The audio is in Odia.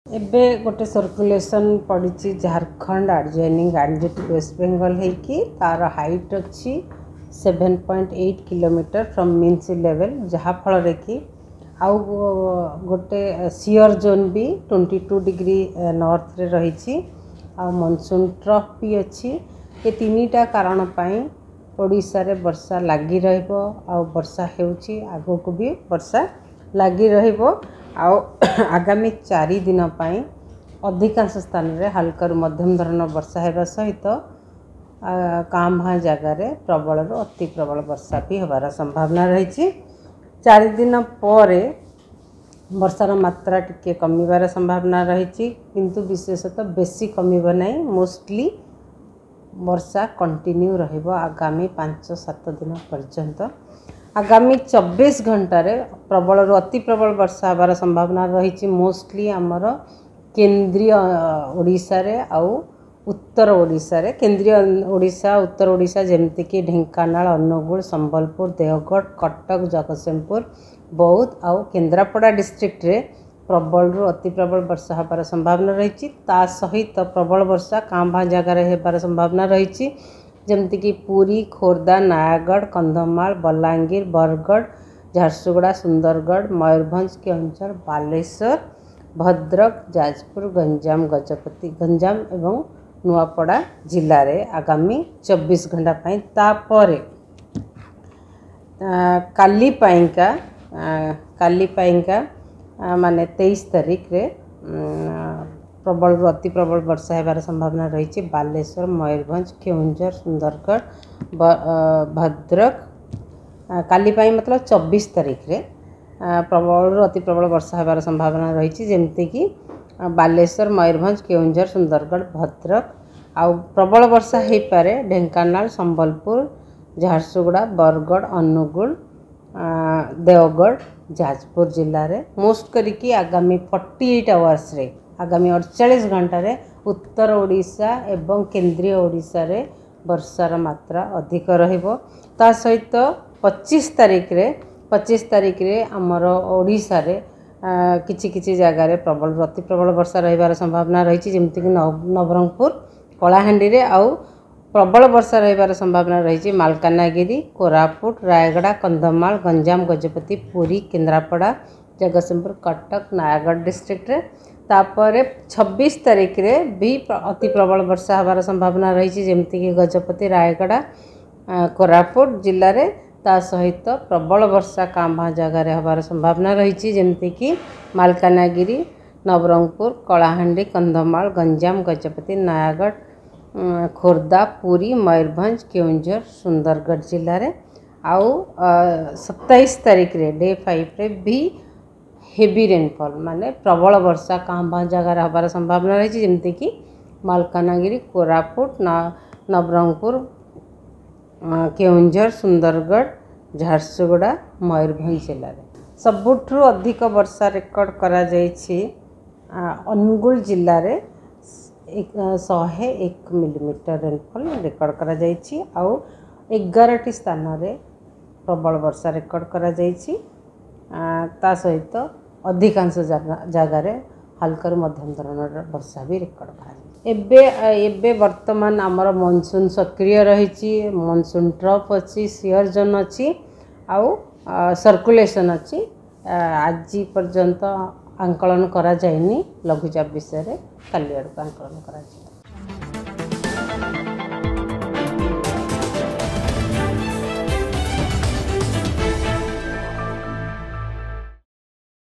ଏବେ ଗୋଟେ ସର୍କୁଲେସନ୍ ପଡ଼ିଛି ଝାଡ଼ଖଣ୍ଡ ଆଡ଼ଜଏନିଂ ଗାଞ୍ଜେଟିକ୍ ୱେଷ୍ଟବେଙ୍ଗଲ ହେଇକି, ତାର ହାଇଟ୍ ଅଛି 7.8 kilometre from mean sea level, ଯାହାଫଳରେ କି ଆଉ ଗୋଟେ ସିଅର୍ ଜୋନ୍ ବି 22 ଡିଗ୍ରୀ ନର୍ଥରେ ରହିଛି ଆଉ ମନସୁନ୍ ଟ୍ରଫ୍ ବି ଅଛି। ଏ ତିନିଟା କାରଣ ପାଇଁ ଓଡ଼ିଶାରେ ବର୍ଷା ଲାଗି ରହିବ ଆଉ ବର୍ଷା ହେଉଛି, ଆଗକୁ ବି ବର୍ଷା ଲାଗି ରହିବ। ଆଉ ଆଗାମୀ 4 ଦିନ ପାଇଁ ଅଧିକାଂଶ ସ୍ଥାନରେ ହାଲକାରୁ ମଧ୍ୟମ ଧରଣର ବର୍ଷା ହେବା ସହିତ କାଁ ଭାଁ ଜାଗାରେ ପ୍ରବଳରୁ ଅତି ପ୍ରବଳ ବର୍ଷା ବି ହେବାର ସମ୍ଭାବନା ରହିଛି। 4 ଦିନ ପରେ ବର୍ଷାର ମାତ୍ରା ଟିକେ କମିବାର ସମ୍ଭାବନା ରହିଛି, କିନ୍ତୁ ବିଶେଷତଃ ବେଶୀ କମିବ ନାହିଁ। ମୋଷ୍ଟଲି ବର୍ଷା କଣ୍ଟିନ୍ୟୁ ରହିବ ଆଗାମୀ 5 7 ଦିନ ପର୍ଯ୍ୟନ୍ତ। ଆଗାମୀ 24 ଘଣ୍ଟାରେ ପ୍ରବଳରୁ ଅତି ପ୍ରବଳ ବର୍ଷା ହେବାର ସମ୍ଭାବନା ରହିଛି, ମୋଷ୍ଟଲି ଆମର କେନ୍ଦ୍ରୀୟ ଓଡ଼ିଶାରେ ଆଉ ଉତ୍ତର ଓଡ଼ିଶାରେ। କେନ୍ଦ୍ରୀୟ ଓଡ଼ିଶା, ଉତ୍ତର ଓଡ଼ିଶା ଯେମିତିକି ଢେଙ୍କାନାଳ, ଅନୁଗୁଳ, ସମ୍ବଲପୁର, ଦେଓଗଡ଼, କଟକ, ଜଗତସିଂହପୁର, ବୌଦ୍ଧ ଆଉ କେନ୍ଦ୍ରାପଡ଼ା ଡିଷ୍ଟ୍ରିକ୍ଟରେ ପ୍ରବଳରୁ ଅତି ପ୍ରବଳ ବର୍ଷା ହେବାର ସମ୍ଭାବନା ରହିଛି। ତା ସହିତ ପ୍ରବଳ ବର୍ଷା କାଁ ଭାଁ ଜାଗାରେ ହେବାର ସମ୍ଭାବନା ରହିଛି, ଯେମିତିକି ପୁରୀ, ଖୋର୍ଦ୍ଧା, ନୟାଗଡ଼, କନ୍ଧମାଳ, ବଲାଙ୍ଗୀର, ବରଗଡ଼, ଝାରସୁଗୁଡ଼ା, ସୁନ୍ଦରଗଡ଼, ମୟୂରଭଞ୍ଜ, କେଉଁଝର, ବାଲେଶ୍ୱର, ଭଦ୍ରକ, ଯାଜପୁର, ଗଞ୍ଜାମ, ଗଜପତି, ଗଞ୍ଜାମ ଏବଂ ନୂଆପଡ଼ା ଜିଲ୍ଲାରେ ଆଗାମୀ 24 ଘଣ୍ଟା ପାଇଁ। ତାପରେ କାଲି ପାଇଁକା ମାନେ 23 ତାରିଖରେ ପ୍ରବଳରୁ ଅତି ପ୍ରବଳ ବର୍ଷା ହେବାର ସମ୍ଭାବନା ରହିଛି ବାଲେଶ୍ୱର, ମୟୂରଭଞ୍ଜ, କେଉଁଝର, ସୁନ୍ଦରଗଡ଼, ଭଦ୍ରକ। କାଲି ପାଇଁ ମତଲବ 24 ତାରିଖରେ ପ୍ରବଳରୁ ଅତି ପ୍ରବଳ ବର୍ଷା ହେବାର ସମ୍ଭାବନା ରହିଛି, ଯେମିତିକି ବାଲେଶ୍ୱର, ମୟୂରଭଞ୍ଜ, କେଉଁଝର, ସୁନ୍ଦରଗଡ଼, ଭଦ୍ରକ। ଆଉ ପ୍ରବଳ ବର୍ଷା ହେଇପାରେ ଢେଙ୍କାନାଳ, ସମ୍ବଲପୁର, ଝାରସୁଗୁଡ଼ା, ବରଗଡ଼, ଅନୁଗୁଳ, ଦେଓଗଡ଼, ଯାଜପୁର ଜିଲ୍ଲାରେ। ମୋଷ୍ଟ କରିକି ଆଗାମୀ 48 ଆୱାର୍ସରେ, ଆଗାମୀ 48 ଘଣ୍ଟାରେ ଉତ୍ତର ଓଡ଼ିଶା ଏବଂ କେନ୍ଦ୍ରୀୟ ଓଡ଼ିଶାରେ ବର୍ଷାର ମାତ୍ରା ଅଧିକ ରହିବ। ତା ସହିତ 25 ତାରିଖରେ ଆମର ଓଡ଼ିଶାରେ କିଛି କିଛି ଜାଗାରେ ପ୍ରବଳରୁ ଅତି ପ୍ରବଳ ବର୍ଷା ରହିବାର ସମ୍ଭାବନା ରହିଛି, ଯେମିତିକି ନବରଙ୍ଗପୁର, କଳାହାଣ୍ଡିରେ। ଆଉ ପ୍ରବଳ ବର୍ଷା ରହିବାର ସମ୍ଭାବନା ରହିଛି ମାଲକାନଗିରି, କୋରାପୁଟ, ରାୟଗଡ଼ା, କନ୍ଧମାଳ, ଗଞ୍ଜାମ, ଗଜପତି, ପୁରୀ, କେନ୍ଦ୍ରାପଡ଼ା, ଜଗତସିଂହପୁର, କଟକ, ନୟାଗଡ଼ ଡିଷ୍ଟ୍ରିକ୍ଟରେ। ତାପରେ 26 ତାରିଖରେ ବି ଅତି ପ୍ରବଳ ବର୍ଷା ହେବାର ସମ୍ଭାବନା ରହିଛି, ଯେମିତିକି ଗଜପତି, ରାୟଗଡ଼ା, କୋରାପୁଟ ଜିଲ୍ଲାରେ। ତା ସହିତ ପ୍ରବଳ ବର୍ଷା କାଁ ଭାଁ ଜାଗାରେ ହେବାର ସମ୍ଭାବନା ରହିଛି, ଯେମିତିକି ମାଲକାନଗିରି, ନବରଙ୍ଗପୁର, କଳାହାଣ୍ଡି, କନ୍ଧମାଳ, ଗଞ୍ଜାମ, ଗଜପତି, ନୟାଗଡ଼, ଖୋର୍ଦ୍ଧା, ପୁରୀ, ମୟୂରଭଞ୍ଜ, କେଉଁଝର, ସୁନ୍ଦରଗଡ଼ ଜିଲ୍ଲାରେ। ଆଉ 27 ତାରିଖରେ ଡେ 5ରେ ବି ହେଭି ରେନଫଲ୍, ମାନେ ପ୍ରବଳ ବର୍ଷା କାଁ ଭାଁ ଜାଗାରେ ହେବାର ସମ୍ଭାବନା ରହିଛି, ଯେମିତିକି ମାଲକାନଗିରି, କୋରାପୁଟ, ନବରଙ୍ଗପୁର, କେଉଁଝର, ସୁନ୍ଦରଗଡ଼, ଝାରସୁଗୁଡ଼ା, ମୟୂରଭଞ୍ଜ ଜିଲ୍ଲାରେ। ସବୁଠୁ ଅଧିକ ବର୍ଷା ରେକର୍ଡ଼ କରାଯାଇଛି ଅନୁଗୁଳ ଜିଲ୍ଲାରେ, 101 ମିଲିମିଟର ରେନଫଲ୍ ରେକର୍ଡ଼ କରାଯାଇଛି। ଆଉ 11ଟି ସ୍ଥାନରେ ପ୍ରବଳ ବର୍ଷା ରେକର୍ଡ଼ କରାଯାଇଛି। ତା ସହିତ ଅଧିକାଂଶ ଜାଗାରେ ହାଲକାରୁ ମଧ୍ୟମ ଧରଣର ବର୍ଷା ବି ରେକର୍ଡ଼ କରାଯାଇଛି। ଏବେ ବର୍ତ୍ତମାନ ଆମର ମନସୁନ୍ ସକ୍ରିୟ ରହିଛି, ମନସୁନ୍ ଟ୍ରଫ୍ ଅଛି, ସିଅର୍ ଜୋନ୍ ଅଛି ଆଉ ସର୍କୁଲେସନ୍ ଅଛି। ଆଜି ପର୍ଯ୍ୟନ୍ତ ଆଙ୍କଳନ କରାଯାଇନି ଲଘୁଚାପ ବିଷୟରେ, କାଲି ଆଡ଼କୁ ଆଙ୍କଳନ କରାଯିବ।